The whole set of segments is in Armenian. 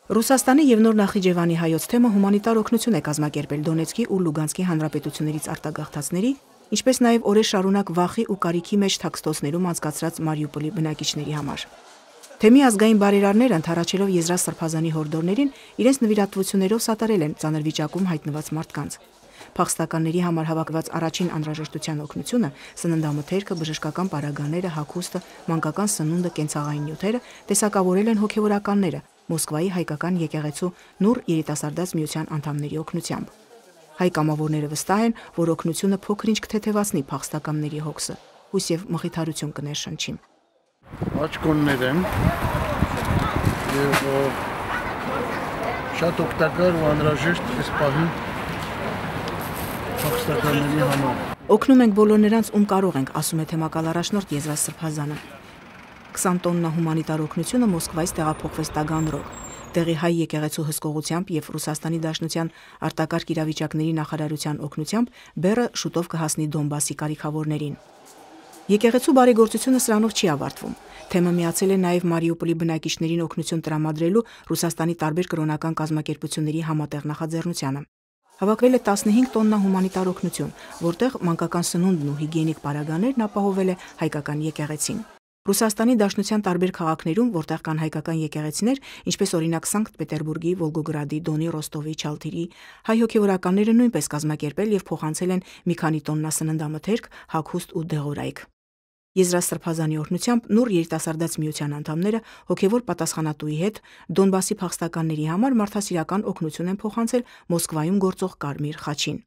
Ռուսաստանի եւ Նոր Նախիջևանի հայոց թեմը հումանիտար օգնություն է կազմակերպել Դոնեցկի ու Լուգանսկի հանրապետություններից արտագաղթածների, ինչպես նաեւ օրեր շարունակ վախի ու կարիքի մեջ թաքստոցներում անցկացրած Մարիուպոլի բնակիչների համար։ Թեմի ազգային բարերարները ընդառաջելով Եզրասրբազանի հորդորներին իրենց նվիրատվություններով սատարել են ծանր վիճակում հայտնված մարդկանց։ Փախստականների համար հավաքված առաջին անհրաժեշտության օգնությունը, սննդամթերքը, բժշկական պարագաները, հագուստը, մանկական սնունդը, կենցաղային նյութերը տեսակավորել են հոգևորականները Մոսկվայի հայկական եկեղեցու Նուր երիտասարդաց միության անդամների օգնությամբ։ Հայ կամավորները վստահ են, որ օգնությունը փոքր-ինչ կթեթևացնի փախստականների հոգսը, հույս եւ մխիթարություն կներշնչի։ Աչքոններ են եւ շատ օգտակար ու անհրաժեշտ այս պահին փախստականների համար։ Օգնում ենք բոլոր նրանց, ում կարող ենք, ասում է թեմակալ առաջնորդ Եզրասրբազանը։ 20 տոննա հումանիտար օգնությունը Մոսկվայից տեղափոխվեց Տագանրոգ։ Տեղի հայ եկեղեցու հսկողությամբ եւ Ռուսաստանի Դաշնության արտակարգ իրավիճակների նախարարության օգնությամբ բեռը շուտով կհասնի Դոնբասի կարիքավորներին։ Եկեղեցու բարեգործությունը սրանով չի ավարտվում։ Թեմը միացել է նաեւ Մարիուպոլի բնակիչներին օգնություն տրամադրելու Ռուսաստանի տարբեր կրոնական կազմակերպությունների համատեղ նախաձեռնությանը։ Հավաքվել է 15 տոննա հումանիտար օգնություն, որտեղ մանկական սնունդն ու հիգիենիկ պարագաներն ապահովել է հայկական եկեղեցին։ Ռուսաստանի Դաշնության տարբեր քաղաքներում, որտեղ կան հայկական եկեղեցիներ, ինչպես օրինակ Սանկտ Պետերբուրգի, Վոլգոգրադի, Դոնի, Ռոստովի, Չալթիրի, հայ հոգևորականները նույնպես կազմակերպել եւ փոխանցել են մի քանի տոննա սննդամթերք, հագուստ ու դեղորայք։ Եզրասրբազանի օրհնությամբ Նուր երիտասարդաց միության անդամները հոգևոր պատասխանատուի հետ Դոնբասի փախստականների համար մարդասիրական օգնություն են փոխանցել Մոսկվայում գործող Կարմիր խաչին։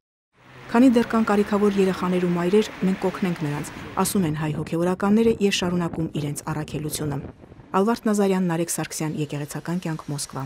Քանի դեռ կան կարիքավոր երեխաներ ու մայրեր, մենք կօգնենք նրանց, ասում են հայ հոգևորականները եւ շարունակում իրենց առաքելությունը։ Ալվարդ Նազարյան, Նարեկ Սարգսյան, Եկեղեցական կյանք, Մոսկվա։